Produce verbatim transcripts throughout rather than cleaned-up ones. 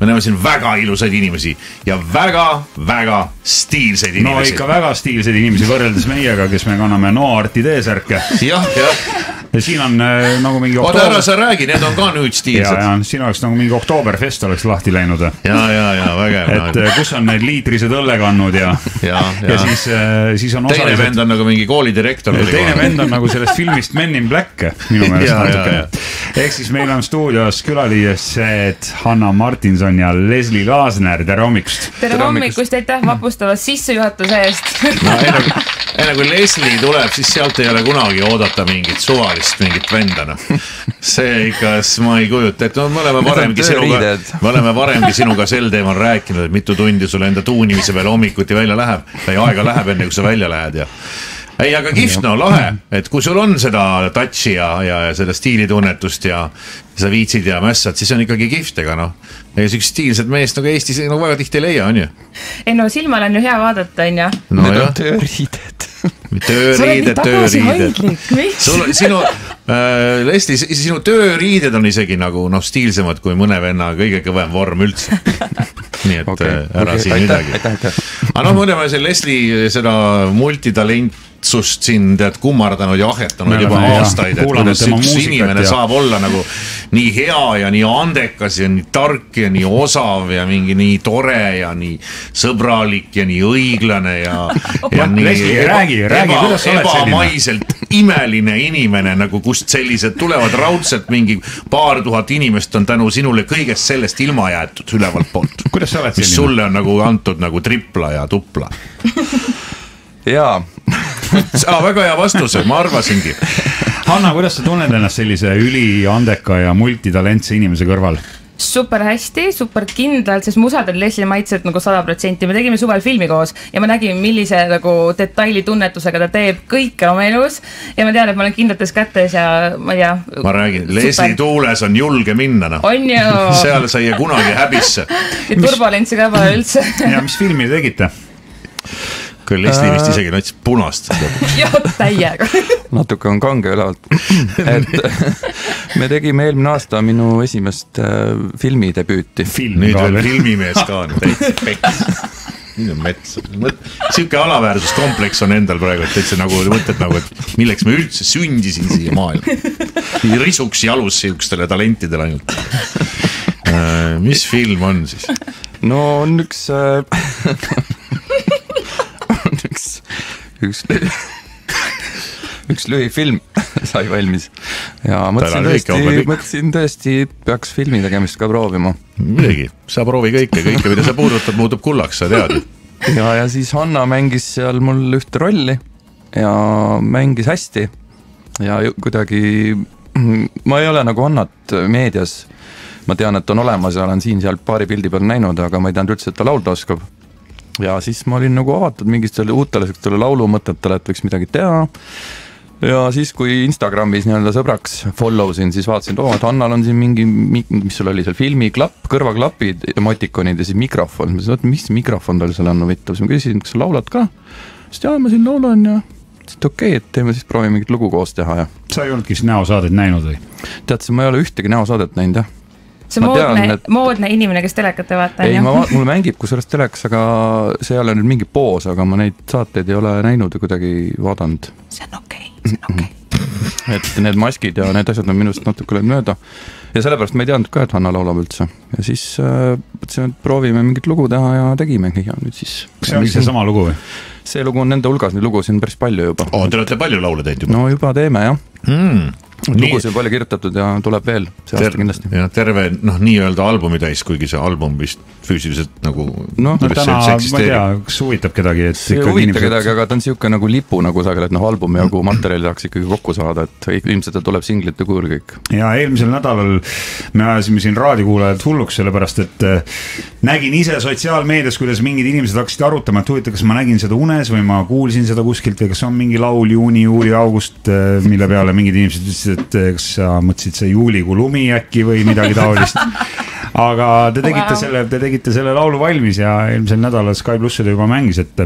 me näeme siin väga ilusaid inimesi ja väga-väga stiilseid inimesi. No ikka väga stiilseid inimesi võrreldes meiega, kes me kanname Noarti T-särke. Jah, jah. Ja siin on äh, nagu mingi oktoober... Oota ära sa räägi, need on ka nüüd stiilsed. Ja, ja siin oleks nagu mingi Oktoberfest oleks lahti läinud. Ja, ja, ja, vägev. Et äh, kus on need liitrised õllekannud ja, ja, ja. ja siis, äh, siis on teine osalised... vend on nagu mingi koolidirektor. Teine vend on nagu sellest filmist Men in Black minu meelest natuke. Ehk siis meil on stuudios külalised Hanna Martinson ja Leslie Laasner. Tere hommikust. Tere hommikust, aitäh vapustavast sissejuhatuse eest. No, enne, enne kui Leslie tuleb, siis sealt ei ole kunagi oodata mingit suvalist, mingit vendana. See ikka, ma ei kujuta, et no, me oleme varemgi sinuga, me oleme varemgi sinuga sel teemal rääkinud, et mitu tundi sulle enda tuunimise peale hommikuti välja läheb või aega läheb enne, kui sa välja lähed ja ei, aga kihvt, no lahe, et kui sul on seda touchi ja, ja, ja seda stiilitunnetust ja sa viitsid ja mässad, siis on ikkagi kihvt, ega noh. Ja üks stiilsed meest nagu Eestis nagu väga tihti ei leia, on ju? Ei no silmal on ju hea vaadata, on ju? No need on tööriided. Tööriided, tööriided. Sul, sinu, äh, Leslie, sinu tööriided on isegi nagu noh, stiilsemad kui mõne venna kõige kõvem vorm üldse. Nii et okay, ära okay, siin aitäh, midagi. Aitäh, aitäh. Aga noh, mõne see Leslie seda multitalentsust siin tead kummardanud ja ahetanud juba aastaid, et kuidas üks inimene ja... saab olla nagu nii hea ja nii andekas ja nii tark ja nii osav ja mingi nii tore ja nii sõbralik ja nii õiglane ja, ja nii Leslie, eba, räägi, räägi, eba, ebamaiselt imeline inimene, nagu kust sellised tulevad raudselt mingi paar tuhat inimest on tänu sinule kõigest sellest ilma jäetud ülevalt poolt. Kuidas sa oled mis selline? Sulle on nagu antud nagu tripla ja tupla. Jaa. Ah, väga hea vastuse, ma arvasingi. Hanna, kuidas sa tunned ennast sellise üli andeka ja multitalentse inimese kõrval? Super hästi, super kindlalt, sest musad on Leslie maitsed nagu sada protsenti. Me tegime suvel filmi koos ja ma nägin, millise nagu detailitunnetusega ta teeb kõike oma elus ja ma tean, et ma olen kindlates kätes ja ma ei tea. Ma räägin, Leslie tuules on julge minna. No. On ju. Seal sai kunagi häbisse. Ja turbulentsi ka pole üldse. Ja mis filmi tegite? Küll Leslie vist isegi näitis punast. Jah, täiega. Natuke on kange ülevalt. Et me tegime eelmine aasta minu esimest filmidebüüti. Film nüüd veel filmimees ka on. Peks. Nüüd on mets. Siuke alaväärsuskompleks on endal praegu, et täitsa nagu mõtled nagu, et milleks me üldse sündisin siia maailma. Risuks jalus siukestele talentidele ainult. Mis film on siis? No on üks... üks, üks, üks lühifilm sai valmis ja mõtlesin tõesti, mõtlesin tõesti, peaks filmi tegemist ka proovima. Midagi, sa proovi kõike, kõike, mida sa puudutad, muutub kullaks, sa tead. Ja, ja siis Hanna mängis seal mul ühte rolli ja mängis hästi ja kuidagi, ma ei ole nagu Hannat meedias, ma tean, et on olemas ja olen siin seal paari pildi peal näinud, aga ma ei teanud üldse, et ta laulda oskab. Ja siis ma olin nagu avatud mingistele uutele laulumõtetele, et võiks midagi teha. Ja siis, kui Instagramis nii-öelda sõbraks follow sin, siis vaatasin, oo, et Hannal on siin mingi, mis sul oli seal filmi, klapp, kõrvaklapid, emotikonid ja siis mikrofon. Ma mõtlesin, mis mikrofon tal seal on huvitav. Siis ma küsisin, kas sa laulad ka? Siis jaa, ma siin laulan ja siis okei, okay, et teeme siis proovi mingit lugu koos teha. Ja. Sa ei olnudki siis näosaadet näinud või? Tead, ma ei ole ühtegi näosaadet näinud, jah. See ma moodne, tean, et... moodne inimene, kes telekate vaata. Ei, ma, mul mängib kusjuures teleks, aga see ei ole nüüd mingi poos, aga ma neid saateid ei ole näinud ja kuidagi vaadanud. See on okei, okay, see on okei okay. Et need maskid ja need asjad on minust natuke löönud mööda. Ja sellepärast ma ei teadnud ka, et Hanna laulab üldse. Ja siis äh, mõtlesin, et proovime mingit lugu teha ja tegimegi. Ja nüüd siis... See on see sama lugu või? See lugu on nende hulgas, neid lugu siin päris palju juba. Oh, te olete palju laule teinud juba? No juba teeme, jah. Hmm. Lugus on palju kirjutatud ja tuleb veel see Ter aasta kindlasti. Ja terve, noh, nii-öelda albumi täis, kuigi see album vist füüsiliselt nagu... No, no täna, ma ei tea, kas huvitab kedagi, et... See huvitab inimesed... kedagi, aga ta on siuke nagu lipu nagu sagel, et noh, albumi jagu materjali tahaks ikkagi kokku saada, et ilmselt tuleb singlite kujul kõik. Ja eelmisel nädalal me ajasime siin raadikuulajad hulluks, sellepärast, et nägin ise sotsiaalmeedias, kuidas mingid inimesed hakkasid arutama, et huvita, kas ma nägin seda unes või ma kuulsin seda kuskilt või kas on mingi laul juuni, juuli, august, mille peale mingid inimesed ütlesid, et kas sa mõtlesid see juulikuu lumi äkki või midagi taolist. Aga te tegite, wow. selle, te tegite selle laulu valmis ja eelmisel nädalal Sky Pluss oli juba mängis, et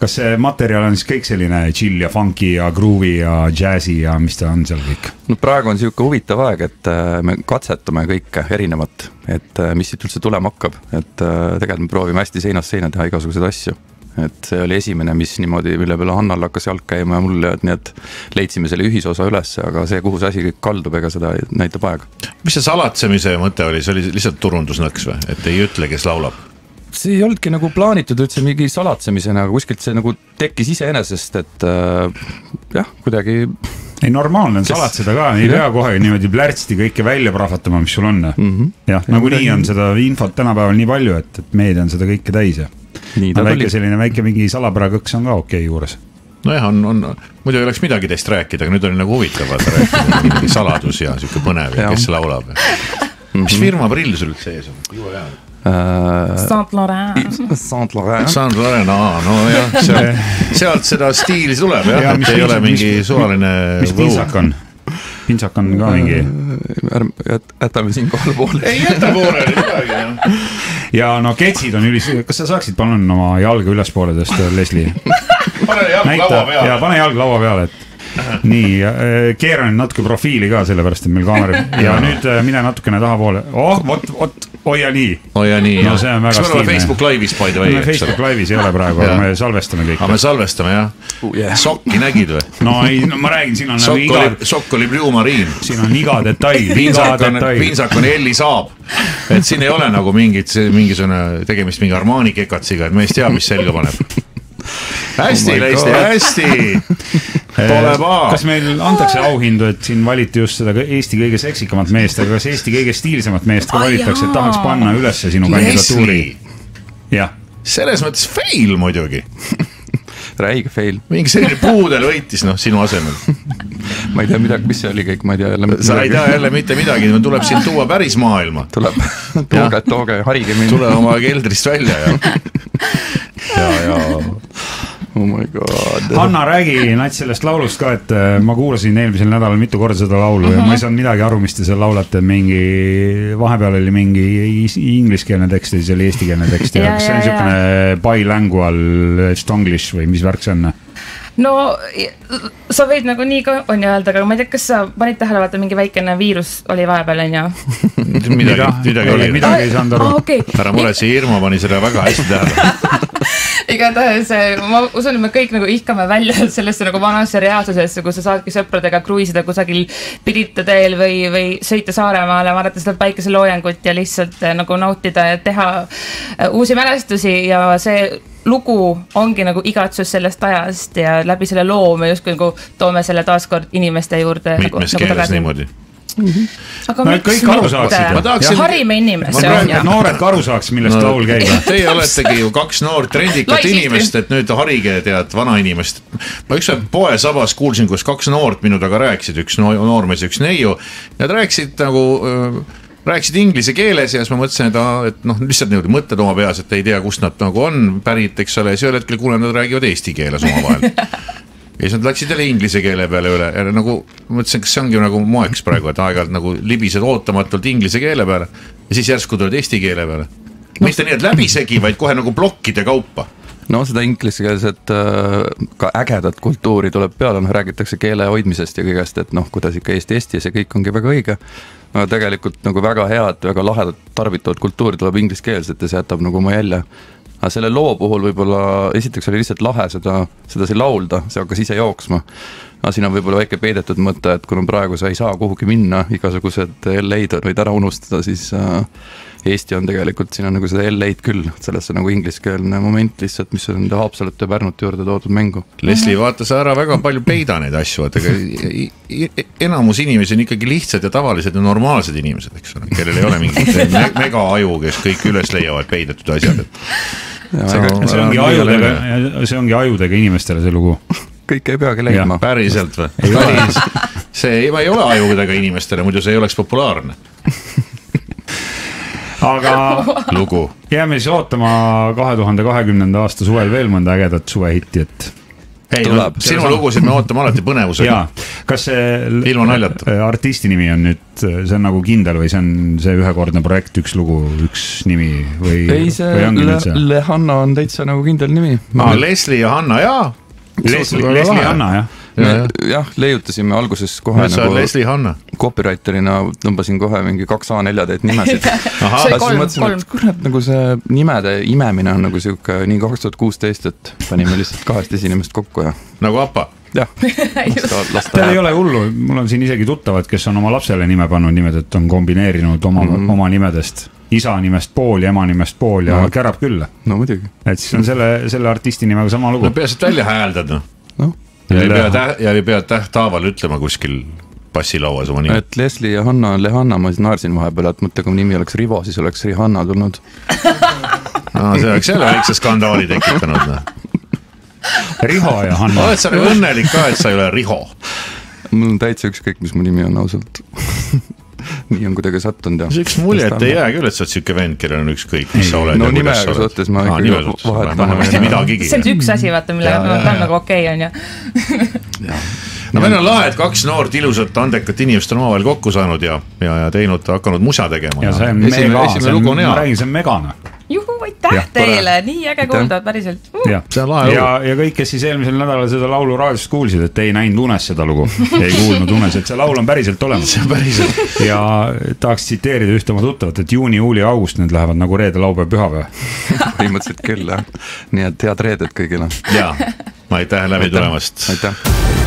kas see materjal on siis kõik selline chill ja funky ja groovy ja jazzy ja mis ta on seal kõik? No praegu on siuke huvitav aeg, et me katsetame kõike erinevat, et mis siit üldse tulema hakkab, et tegelikult me proovime hästi seinast seina teha igasuguseid asju. Et see oli esimene, mis niimoodi, mille peale Hannal hakkas jalg käima ja mulle, et nii, et leidsime selle ühisosa üles, aga see, kuhu see asi kõik kaldub, ega seda näitab aeg. Mis see salatsemise mõte oli? See oli lihtsalt turundusnõks või? Et ei ütle, kes laulab? See ei olnudki nagu plaanitud üldse mingi salatsemisena, aga kuskilt see nagu tekkis iseenesest, et äh, jah, kuidagi... Ei, normaalne on salatseda ka, ei pea kohe niimoodi plärtsti kõike välja prahvatama, mis sul on. Mm -hmm. Jah, nagu nii on seda infot tänapäeval nii palju, et, et meedia on seda kõike täis ja väike selline väike mingi salapäragõks on ka okei okay juures. Nojah, on, on, muidu ei oleks midagi teist rääkida, aga nüüd oli nagu huvitav rääkida, saladus ja siuke põnev ja kes laulab. Mis firma prill sul üldse ees on? Juhu jää. Saint Laurent. Saint Laurent. Saint Laurent, aa, no jah, sealt, sealt seda stiili tuleb jah, ja, et ei ole mingi mis, suvaline... Mis pintsak on? Pintsak on ka mingi... Jätame siin kohal poole. Ei jäta poole, midagi jah. Ja no ketsid on ülis... Kas sa saaksid palun oma jalga üles poole tõst, Leslie? Pane jalg Näita, laua peale. Ja pane jalg laua peale, et nii, keeran natuke profiili ka sellepärast, et meil kaamera ja nüüd mine natukene taha poole. Oh, vot, vot, hoia nii. Hoia nii, no, see on väga stiilne. Kas me oleme Facebook Live'is by the way? Facebook Live'is ei ole praegu, aga me salvestame kõik. Aga me salvestame, jah. Uh, yeah. Sokki nägid või? No ei, no ma räägin, siin on Sokk nagu iga... Oli, sokk oli Blue Marine. Siin on iga detail, iga detail. Pintsak on Elli Saab. Et siin ei ole nagu mingit, mingisugune tegemist mingi Armani kekatsiga, et meest teab, mis selga paneb. Hästi, oh Leisti, hästi. Pole paa. Kas meil antakse auhindu, et siin valiti just seda Eesti kõige seksikamat meest, aga kas Eesti kõige stiilsemat meest ka valitaks, et tahaks panna ülesse sinu kandidatuuri? Jah. Selles mõttes fail muidugi. Räige fail. Mingi selline puudel võitis, noh, sinu asemel. Ma ei tea midagi, mis see oli kõik, ma ei tea jälle. Sa ei tea jälle mitte midagi, tuleb siin tuua päris maailma. Tuleb, tooge, tooge, harige mind. Tule oma keldrist välja ja... ja, ja... Oh my god. Hanna, räägi nats sellest laulust ka, et ma kuulasin eelmisel nädalal mitu korda seda laulu uh-huh. ja ma ei saanud midagi aru, mis te seal laulate, mingi vahepeal oli mingi ingliskeelne tekst ja siis oli eestikeelne tekst ja, ja kas see on siukene bilingual stonglish või mis värk see on? No sa võid nagu nii ka on öelda, aga ma ei tea, kas sa panid tähele, vaata mingi väikene viirus oli vahepeal, on ju? Midagi, midagi oli. Midagi ei saanud aru. Ah, okay. Ära mure, see Irma pani seda väga hästi tähele. Igatahes ma usun, et me kõik nagu ihkame välja sellesse nagu vanasse reaalsusesse, kus sa saadki sõpradega kruiisida kusagil Pirita teel või, või sõita Saaremaale, vaadata seda päikeseloojangut ja lihtsalt nagu nautida ja teha uusi mälestusi ja see lugu ongi nagu igatsus sellest ajast ja läbi selle loo me just nagu toome selle taaskord inimeste juurde. Mitmes nagu, keeles nagu niimoodi. Mm-hmm. Aga no, kõik aru saaksid. Tahaksin... Harime inimesi. Noored ka aru saaks, millest no, laul käib. Teie oletegi ju kaks noort trendikat inimest, et nüüd harige tead vana inimest. Ma üks poe sabas kuulsin, kus kaks noort minu taga rääkisid, üks noormees ja üks neiu. Nad rääkisid nagu... rääkisid inglise keeles ja siis ma mõtlesin, et, et noh, lihtsalt niimoodi mõtted oma peas, et ei tea, kust nad nagu on pärit, eks ole, ja see hetkel kuulen, nad räägivad eesti keeles oma vahel. Ja siis nad läksid jälle inglise keele peale üle ja nagu mõtlesin, kas see ongi nagu moeks praegu, et aeg-ajalt nagu libised ootamatult inglise keele peale ja siis järsku tuled eesti keele peale. Mitte nii, et läbisegi, vaid kohe nagu blokkide kaupa. No seda ingliskeelset ka ägedat kultuuri tuleb peale, noh räägitakse keele hoidmisest ja kõigest, et noh, kuidas ikka Eesti Eesti ja see kõik ongi väga õige. Aga tegelikult nagu väga head, väga lahedat tarbitavad kultuuri tuleb ingliskeelset ja see jätab nagu oma jälje. Aga selle loo puhul võib-olla esiteks oli lihtsalt lahe seda, seda siin laulda, see hakkas ise jooksma. Aga siin on võib-olla väike peidetud mõte, et kuna praegu sa ei saa kuhugi minna, igasugused L A-d võid ära unustada, siis Eesti on tegelikult, siin on nagu seda L A-d küll, sellesse nagu ingliskeelne moment lihtsalt, mis on Haapsalut ja Pärnut juurde toodud mängu. Leslie, vaata sa ära väga palju peida neid asju, et enamus inimesi on ikkagi lihtsad ja tavalised ja normaalsed inimesed, eks ole, kellel ei ole mingit mega aju, kes kõik üles leiavad peidetud asjad. Ja, see, see, ongi ajudega, see ongi ajudega inimestele see lugu. Kõik ei peagi leidma. Päriselt või? Ei Päris. See ei, ei ole ajudega inimestele, muidu see ei oleks populaarne. Aga lugu. Jääme siis ootama kahe tuhande kahekümnenda aasta suvel veel mõnda ägedat suvehitti, et ei, no, sinu lugusid me ootame alati põnevusega. Jaa, kas see ilma naljata artisti nimi on nüüd, see on nagu kindel või see on see ühekordne projekt, üks lugu, üks nimi või? Ei, see Le, Le Hanna on täitsa nagu kindel nimi. Ah, Leslie ja Hanna, jaa. Leslie, Leslie ja Hanna, jah. Me, jah, leiutasime alguses kohe Nüüd nagu Leslie Hanna. Copywriterina tõmbasin kohe mingi kaks A neli täit nimesid. see kolm, kolm. Kurat, nagu see nimede imemine on nagu siuke nii kaks tuhat kuusteist, et panime lihtsalt kahest esinimest kokku ja nagu Appa. Jah, lasta, lasta Teil ei ole hullu, mul on siin isegi tuttavad, kes on oma lapsele nime pannud nimed, et on kombineerinud oma, mm -hmm. oma nimedest isa nimest pool ja ema nimest pool ja no. Kärab küll. No muidugi. Et siis on selle, selle artisti nimega sama lugu. No peaasi, et välja hääldad, noh. No. Ja ei pea, täht, ja ei pea tähtaaval ütlema kuskil passilauas oma nimi. Et Leslie ja Hanna on Lehanna, ma siis naersin vahepeal, et mõtte, kui nimi oleks Rivo, siis oleks Rihanna tulnud. No see oleks jälle väikse skandaali tekitanud. No. Riho ja Hanna. Oled sa nagu õnnelik ka, et sa ei ole Riho? Mul on täitsa ükskõik, mis mu nimi on ausalt. Nii on kuidagi sattunud ja... See üks mulje, et ei jää küll, et sa oled siuke vend, kellel on ükskõik, mis sa oled. No nimega suhtes ma ah, ikkagi vahetama. See on üks asi, vaata, millega ta on nagu okei on ja. No meil on lahe, et kaks noort ilusat andekat inimest on omavahel kokku saanud ja, ja, ja teinud, hakanud musa tegema. Ja see on mega, see on, ma räägin, see on megana. Juhu, aitäh teile, nii äge kuuldavad päriselt. Uh. Ja, ja, ja kõik, kes siis eelmisel nädalal seda laulu raadiost kuulsid, et ei näinud unes seda lugu, ei kuulnud unes, et see laul on päriselt olemas. See on päriselt. Ja tahaks tsiteerida ühte oma tuttavat, et juuni, juuli, august need lähevad nagu reede, laupäev, pühapäev. Põhimõtteliselt küll, jah. Nii et head reedet kõigile. Jaa, ma aitäh läbi tulemast. Aitäh.